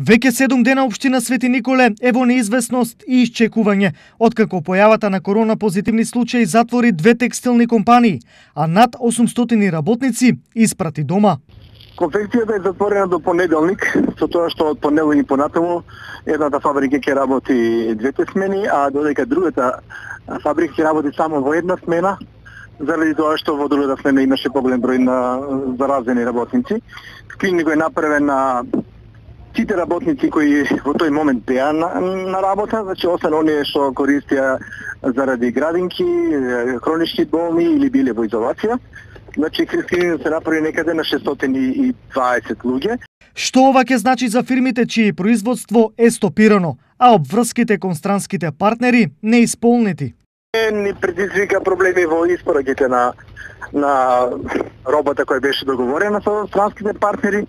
Веќе 7 дена општина Свети Николе е во неизвестност и исчекување, откако појавата на корона позитивни случаи затвори 2 текстилни компании, а над 800 работници испрати дома. Конфекцијата е затворена до понеделник, со тоа што од понеделник понатаму едната фабрика ќе работи 2 смени, а додека другата фабрика ќе работи само во 1 смена, заради тоа што во другата смена имаше поголем број на заразени работници. Скрининг е направен на сите работници кои во тој момент беа на работа, значи освен оние што користија заради градинки, хронични болни или биле во изолација. Значи скрининг се направи некаде на 620 луѓе. Што ова ќе значи за фирмите чие производство е стопирано, а обврските кон странските партнери неисполнети? Ни предизвика проблеми во испораките на робата која беше договорена со странските партнери,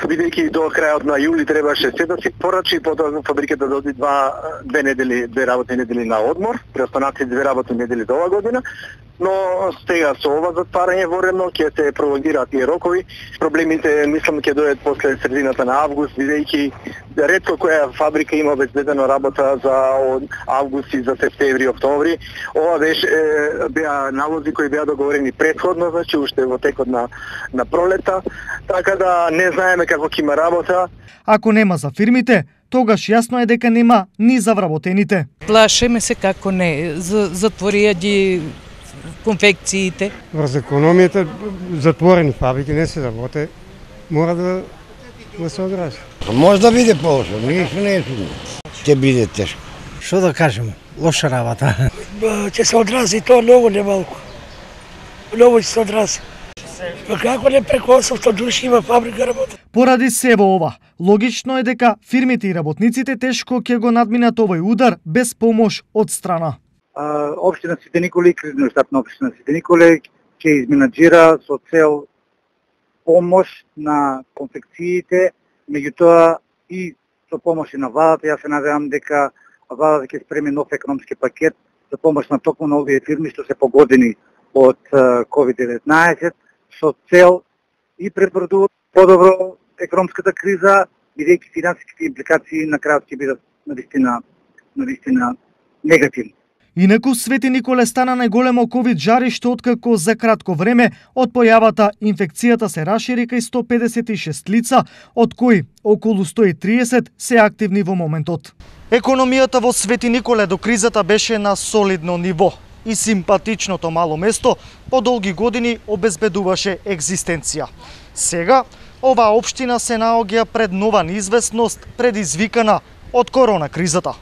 бидејќи до крајот на јули требаше се да се порачи, потоа фабриката доди 2 работни недели на одмор, преостанати 2 работни недели до оваа година, но сега со ова затварање воремно ќе се пролонгираат тие рокови. Проблемите мислам ќе дојдат после средината на август, бидејќи ретко која фабрика има обезбедена работа за август и за септември, октомври. Ова беа налози кои беа договорени претходно, значи уште во текот на пролета, така да не знаеме како ќе има работа. Ако нема за фирмите, тогаш јасно е дека нема ни за вработените. Плашеме се како не, затворија ги конфекциите. Врз економијата затворени фабрики не се работи, мора да се одрази. Може да биде полошо, ништо не е сигурно. Ќе биде тешко. Што да кажем, лоша работа. Ќе се одрази тоа многу немалку. Многу ќе се одрази. Како не преку 800 души има фабрика работа? Поради сево ова, логично е дека фирмите и работниците тешко ќе го надминат овој удар без помош од страна. Општина Свети Николе, кризниот штаб на општина Свети Николе ќе изменаџира со цел помош на конфекциите, меѓутоа и со помош на владата. Јас се надевам дека владата ќе спреми нов економски пакет за помош на токму на овие фирми што се погодени од COVID-19 со цел и пребродување подобро економската криза, бидејќи финансиските импликации на крајот ќе бидат навистина негативни. Инаку Свети Николе стана најголемо ковид жариште откако за кратко време од појавата инфекцијата се рашири кај 156 лица, од кои околу 130 се активни во моментот. Економијата во Свети Николе до кризата беше на солидно ниво и симпатичното мало место по долги години обезбедуваше екзистенција. Сега оваа општина се наоѓа пред нова неизвестност предизвикана од корона кризата.